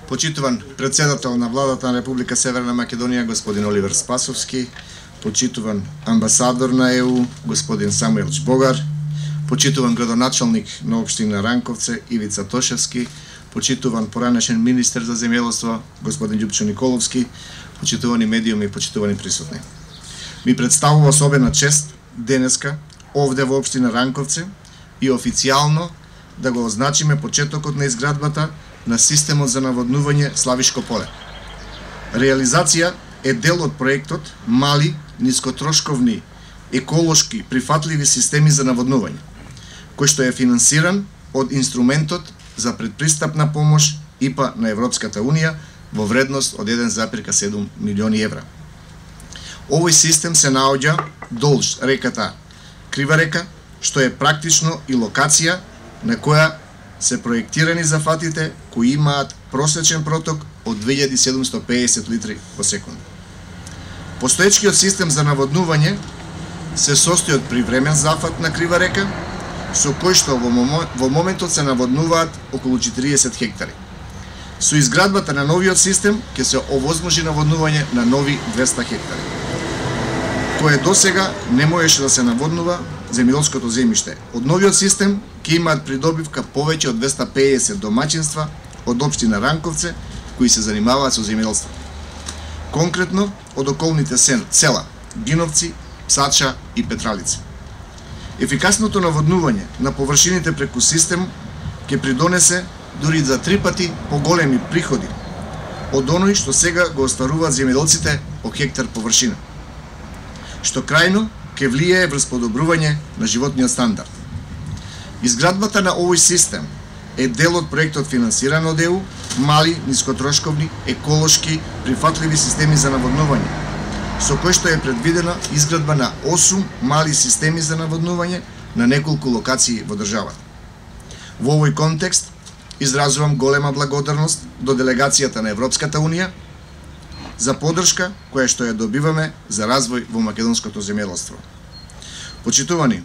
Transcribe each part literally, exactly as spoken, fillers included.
Почитуван председател на владата на Република Северна Македонија господин Оливер Спасовски, почитуван амбасадор на Е У господин Самуел Чбогар, почитуван градоначалник на општина Ранковце Ивица Тошевски, почитуван поранешен министер за земјоделство господин Љупчо Николовски, почитувани медиуми и почитувани присутни. Ми представува особена чест денеска овде во општина Ранковце и официјално да го означиме почетокот на изградбата на системот за наводнување Славишко поле. Реализација е дел од проектот Мали, нискотрошковни, еколошки, прифатливи системи за наводнување, кој што е финансиран од инструментот за предпристапна помош И П А на Европската Унија во вредност од еден запирка седум милиони евра. Овој систем се наоѓа долж реката Крива река, што е практично и локација на која се проектирани зафатите кои имаат просечен проток од две илјади седумстотини и педесет литри по секунда. Постоечкиот систем за наводнување се состои од привремен зафат на Крива река, со кој што во моментот се наводнуваат околу четириесет хектари. Со изградбата на новиот систем ќе се овозможи наводнување на нови двеста хектари, кое досега не можеше да се наводнува земјоделското земјиште. Од новиот систем ќе имаат придобивка повеќе од двеста и педесет домаќинства од општина Ранковце кои се занимаваат со земјоделство. Конкретно од околните села Гиновци, Псача и Петралица. Ефикасното наводнување на површините преку систем ќе придонесе дури за три пати поголеми приходи од оној што сега го остваруваат земјоделците по хектар површина, што крајно ќе влијае врз подобрување на животниот стандард. Изградбата на овој систем е дел од проектот финансиран од Е У Мали, нискотрошковни, еколошки, прифатливи системи за наводнување, со кој што е предвидена изградба на осум мали системи за наводнување на неколку локации во државата. Во овој контекст изразувам голема благодарност до делегацијата на Европската Унија за поддршка која што ја добиваме за развој во македонското земјоделство. Почитувани,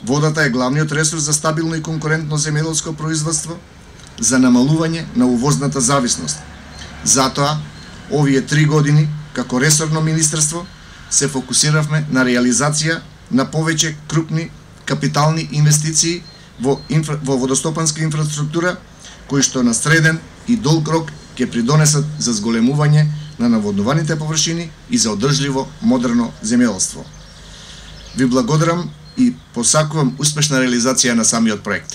водата е главниот ресурс за стабилно и конкурентно земјоделско производство, за намалување на увозната зависност. Затоа, овие три години, како ресорно министерство, се фокусиравме на реализација на повеќе крупни капитални инвестиции во, инфра... во водостопанска инфраструктура, кои што на среден и долг рок ќе придонесат за зголемување на наводнуваните површини и за одржливо модерно земјоделство. Ви благодарам и посакувам успешна реализација на самиот проект.